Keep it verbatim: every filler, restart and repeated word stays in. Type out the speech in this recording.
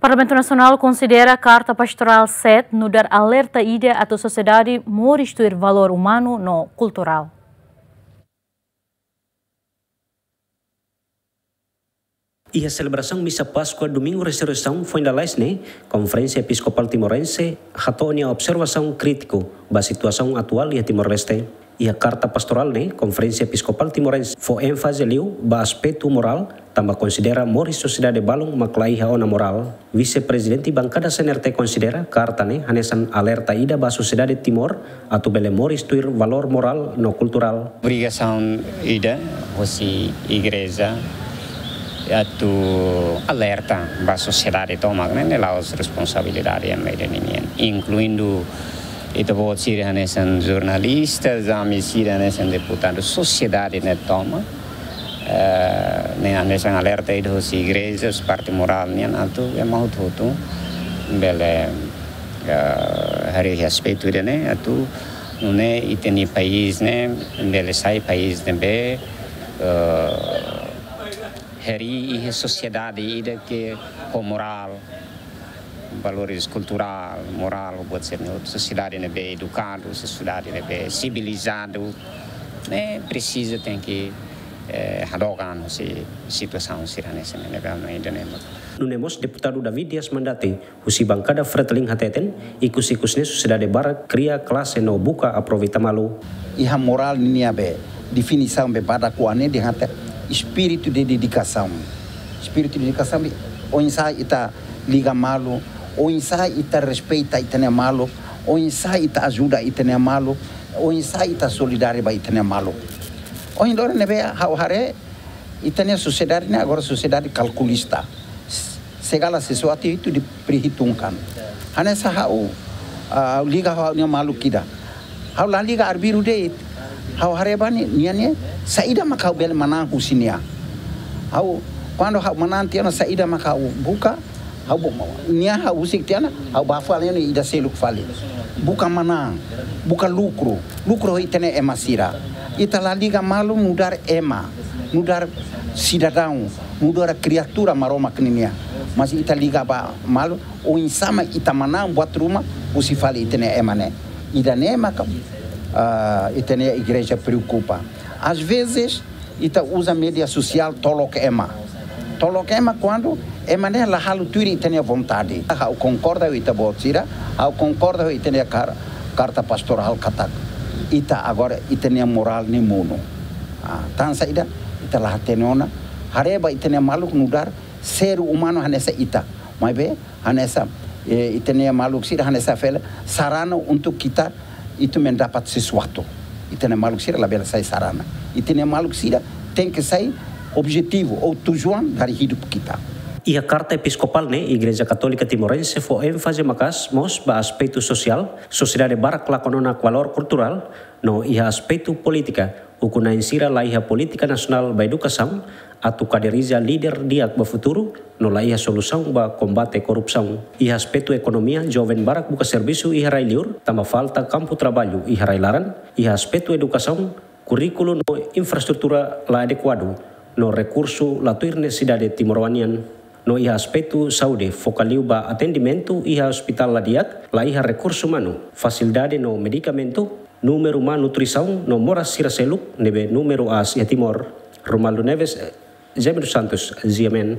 Parlamentu Nasionál konsidera Karta Pastorál sete nu'udar alerta ida atu sosiedade moris tuir valór umanu no kulturál. Iha selebrasaun misa Páskua Domingu Resureisaun foin lalais ne'e, Konferénsia Episkopál Timorense hato'o nia observasaun krítiku ba situasaun atuál iha Timor-Leste. Iha karta pastorál ne'e, Konferénsia Episkopál Timorense fó énfaze liu ba aspetu morál, tanba konsidera moris sosiedade balun mak la iha ona morál. Vise-Prezidente Bankada C N R T konsidera karta ne'e hanesan alerta ida ba sosiedade Timor atu bele moris tuir valór morál no kulturál. Obrigasaun ida hosi igreja atu alerta ba sosiedade tomak ne'e, ne'e la'ós responsabilidade ema ida ninian, inkluindu ita-boot sira hanesan jornalista, ami sira hanesan deputadu, sosiedade ne'e tomak. Eh, ne'e hanesan alerta ida hosi igreja, hosi parte morál nian atu ema hotu-hotu bele, eh, harii aspetu ida-ne'e atu nune'e ita-nia país ne'e bele sai país ne'ebé, eh, harii iha sosiedade ida ke ho morál, valores kulturál, morál, buat sira-ne'e, sosiedade ne'ebé edukadu, sosiedade ne'ebé sivilizadu, ne'e presiza tenke, eh, hadook an husi situasaun sira hanesan ne'e, ne'ebé ami ida-ne'e mak. Nune'e mós Deputadu David Dias Mandati, husi Bankada Fretilin hateten, ikus-ikus ne'e sosiedade barak kria klase no buka aproveita malu. Iha morál ninia be, definisaun be badak oan ne'e dehan katak espíritu de dedikasaun. Espíritu de dedikasaun be, oinsá ita liga malu, oinsá ita respeita ita-nia maluk, oinsá ita ajuda ita-nia maluk, oinsá ita solidáriu ba ita-nia maluk. Ohin loron ne'ebé ha'u haree, ita-nia sosiedade ne'e agora sosiedade kalkulista. Segala sesuatu itu diperhitungkan. Hanesan ha'u, ah, liga ha'u-nia maluk ida. Ha'u la liga arbiru de'it. Ha'u haree ba nia, nia ne'e, saida mak ha'u bele manán husi nia. Ha'u, kuandu ha'u manán tiha ona saida mak ha'u buka, ha'u bu-, nia ha'u husik tiha ona, ha'u bá fali nia ida seluk fali. Buka manán, buka lukru, lukru ho ita-nia ema sira. Ita la liga malu nu'udar ema, nu'udar sidadaun, nu'udar kriatura Maromak ninia. Mas ita liga ba malu, oinsá mak ita manán buat ruma, husi fali ita-nia ema ne'e. Ida-ne'e maka, ah, ita-nia igreja preokupa. Às vezes, ita uza média sosiál tolok ema. Tolok ema kuandu ema ne'e la halo tuir ita-nia vontade. Ha'u konkorda ho ita-boot sira, ha'u konkorda ho ita-nia kar-, karta pastorál katak ita agora ita-nia morál ne'e monu. Ah, tan saida, ita la hatene ona. Haree ba ita-nia maluk nu'udar ser umanu hanesan ita. Maibé, hanesan, eh, ita-nia maluk sira hanesan fali sarana untuk kita itu mendapat sesuatu. Ita-nia maluk sira labele sai sarana. Ita-nia maluk sira tenke sai objetivu ou tujuan dari hidup kita. Iha karta episkopál ne'e, Igreja Katólika Timorense fó énfaze maka'as mós ba aspetu sosiál, sosiedade barak lakon ona valór kulturál, no iha aspetu polítika, ukun-na'in sira la iha polítika nasionál ba edukasaun, atu kaderiza líder di'ak ba futuru, no la iha solusaun ba kombate korrupsaun. Iha aspetu ekonomia, joven barak buka servisu iha rai-liur, tanba falta kampu traballu iha rai-laran. Iha aspetu edukasaun, kurríkulu no infraestrutura la adekuadu, no rekursu la tuir nesesidade timoroan nian. No iha aspetu saúde, foka liu ba atendimentu iha ospitál la di'ak, la iha rekursu umanu, fasilidade no medikamentu, númeru malnutrisaun no moras sira seluk ne'ebé númeru aas iha Timor. Romualdo Neves, Jaime dos Santos, G M N.